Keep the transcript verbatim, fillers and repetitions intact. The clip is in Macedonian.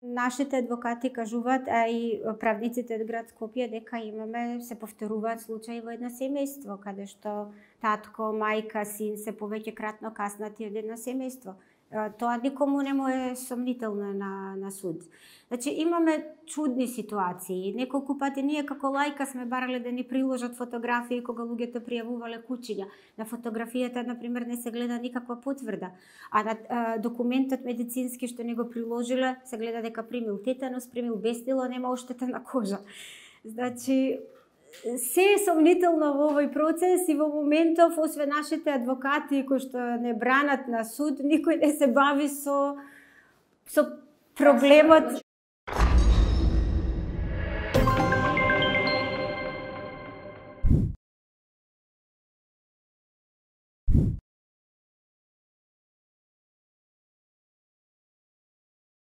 Нашите адвокати кажуваат, а и правниците од град Скопје, дека имаме, се повторуваат случаи во едно семејство, каде што татко, мајка, син се повеќекратно каснати од едно семејство. Тоа никому не му е сомнително на, на суд. Значи, имаме чудни ситуации. Неколку пати ние како лајка сме барале да ни приложат фотографии кога луѓето пријавувале кучиња. На фотографијата, например, не се гледа никаква потврда, а на а, документот медицински што ни го приложиле се гледа дека примил тетанус, примил бестило, нема оштетена кожа. Значи, се е сомнително во овој процес и во моментов, освен нашите адвокати кои што не бранат на суд, никој не се бави со, со проблемот